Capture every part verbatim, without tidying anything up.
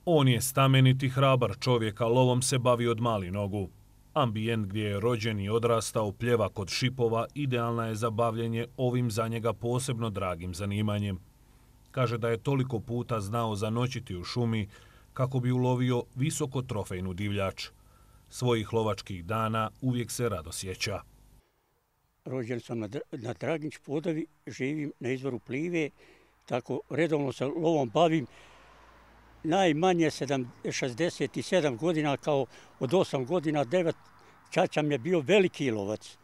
On je stameniti hrabar čovjek, a lovom se bavi od mali nogu. Ambijent gdje je rođen i odrastao pljeva kod šipova idealna je za bavljenje ovim za njega posebno dragim zanimanjem. Kaže da je toliko puta znao zanoćiti u šumi kako bi ulovio visoko trofejnu divljač. Svojih lovačkih dana uvijek se rado sjeća. Rođen sam na, na Draginč Podovi, živim na izvoru Plive, tako redovno se lovom bavim. Najmanje šezdeset sedam godina, kao od osam godina, devet, čača mi je bio veliki lovac.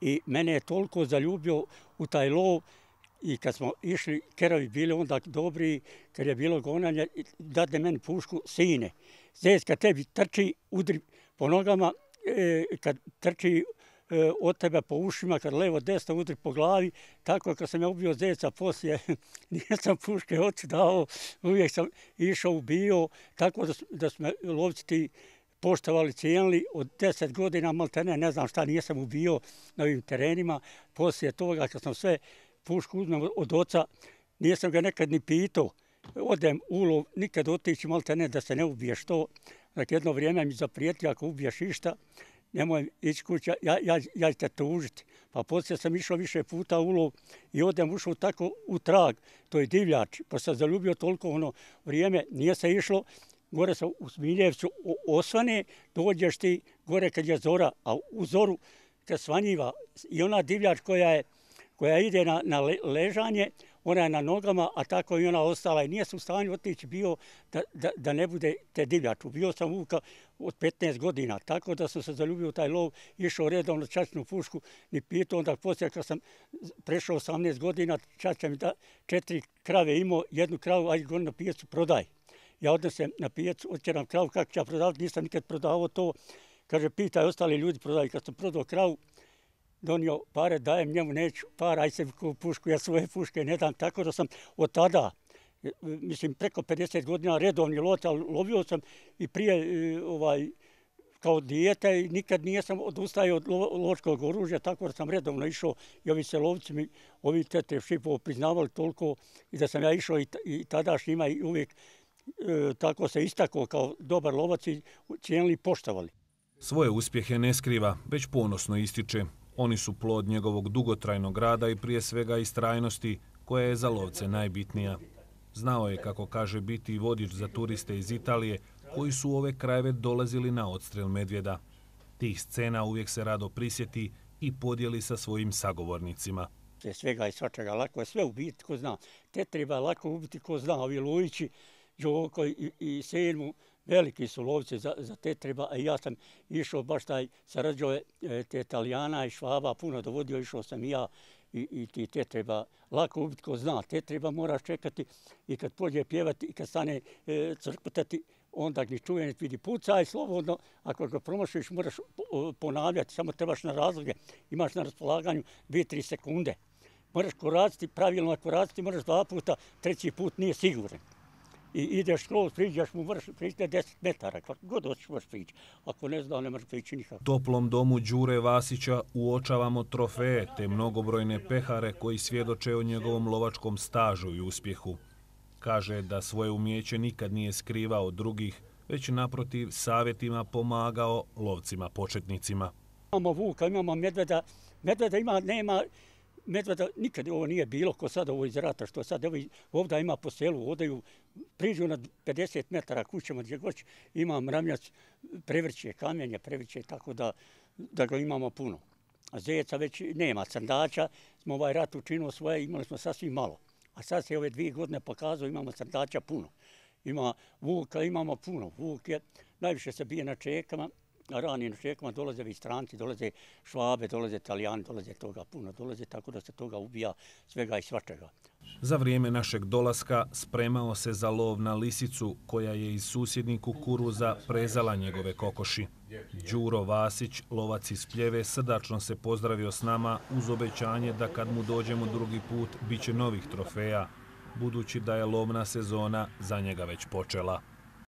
I mene je toliko zaljubio u taj lov i kad smo išli, keravi bili onda dobri, kad je bilo gonanje, dadne meni pušku, sine. Zec kad tebi trči, udri po nogama, e, kad trči e, od tebe po ušima, kad levo desno udri po glavi, tako kad sam ja ubio zeca poslije, nisam puške oči dao, uvijek sam išao ubio, tako da, da smo lovci ti poštovali, cijenili od deset godina, maltene, ne znam šta nisam ubio na ovim terenima. Poslije toga kad sam sve pušku uzmem od oca, nisam ga nekad ni pitao, odem u lov, nikad otići maltene da se ne ubiješ to. Dakle, jedno vrijeme mi zaprijetio, ako ubiješ išta, nemoj ići kuća, ja, ja, ja ću te tužiti. Pa poslije sam išao više puta u lov i odem ušao tako u trag, to je divljač, pa sam zaljubio toliko ono vrijeme, nije se išlo, gore sam u Smiljevcu osvane, dođeš ti gore kad je zora, a u zoru kad svanjiva i ona divljač koja je koja ide na, na ležanje, ona je na nogama, a tako i ona ostala i nije se u stanju otići bio da, da, da ne bude te divljaču. Bio sam vuka od petnaest godina, tako da sam se zaljubio u taj lov, išao redovno čačnu pušku, ni pitao, onda poslije kad sam prešao osamnaest godina, čača mi da četiri krave imao, jednu kravu, ajde goni na pijacu, prodaj. Ja odnesem na pijacu, otjeram kravu, kako ću ja prodavati, nisam nikad prodavao to. Kaže, pitaj, ostali ljudi prodaju. Kad sam prodao kravu, donio pare, dajem njemu, neću para, aj se pušku, ja svoje puške ne dam. Tako da sam od tada, mislim preko pedeset godina redovni lovac, ali lovio sam i prije ovaj, kao dijete i nikad nisam odustajao od lovačkog oružja, tako da sam redovno išao i ovi se lovci mi, ovi tete šipova priznavali toliko i da sam ja išao i, i tadašnjima i uvijek e, tako se istakao kao dobar lovac i cijenili i poštovali. Svoje uspjehe ne skriva, već ponosno ističe. Oni su plod njegovog dugotrajnog rada i prije svega istrajnosti, koja je za lovce najbitnija. Znao je, kako kaže, biti vodič za turiste iz Italije, koji su u ove krajeve dolazili na odstrel medvjeda. Tih scena uvijek se rado prisjeti i podijeli sa svojim sagovornicima. Svega i svačega, lako je sve ubiti ko zna. Te treba lako ubiti ko zna, ovi Lujići, Đoko i, i Selmu, veliki su lovci za, za te treba, a ja sam išao baš taj, sarađao te Italijana i Švaba, puno dovodio, išao sam i ja i, i ti te treba lako ubiti ko zna. Te treba moraš čekati i kad pođe pjevati i kad stane e, crkutati, onda gdje čuje, vidi pucaj slobodno, ako ga promašiš moraš ponavljati, samo trebaš na razloge, imaš na raspolaganju dvije tri sekunde. Moraš koraciti, pravilno koraciti, moraš dva puta, treći put nije siguran. I ideš skroz, priđeš mu, moraš prići deset metara, kako god hoćeš moraš prići. Ako ne zna, ne moraš prići nikako. Toplom domu Đure Vasića uočavamo trofeje te mnogobrojne pehare koji svjedoče o njegovom lovačkom stažu i uspjehu. Kaže da svoje umijeće nikad nije skrivao od drugih, već naprotiv savjetima pomagao lovcima početnicima. Imamo vuka, imamo medveda, medveda ima, nema, medveda nikad ovo nije bilo ko sad ovo iz rata, što sad evo, ovdje ima po selu, odaju, priđu na pedeset metara kućama gdje god ima mramljac, prevrće kamenje, prevrće, tako da, da ga imamo puno. A zeca već nema, crndača smo ovaj rat učinili svoje, imali smo sasvim malo. A sad se ove dvije godine pokazao, imamo crndača puno. Ima vuka, imamo puno. Vuk je, najviše se bije na čekama, a rani na čekama dolaze i stranci, dolaze Švabe, dolaze Italijani, dolaze toga puno, dolaze tako da se toga ubija svega i svačega. Za vrijeme našeg dolaska spremao se za lov na lisicu koja je iz susjednih kukuruza prezala njegove kokoši. Đuro Vasić, lovac iz Pljeve, srdačno se pozdravio s nama uz obećanje da kad mu dođemo drugi put bit će novih trofeja, budući da je lovna sezona za njega već počela.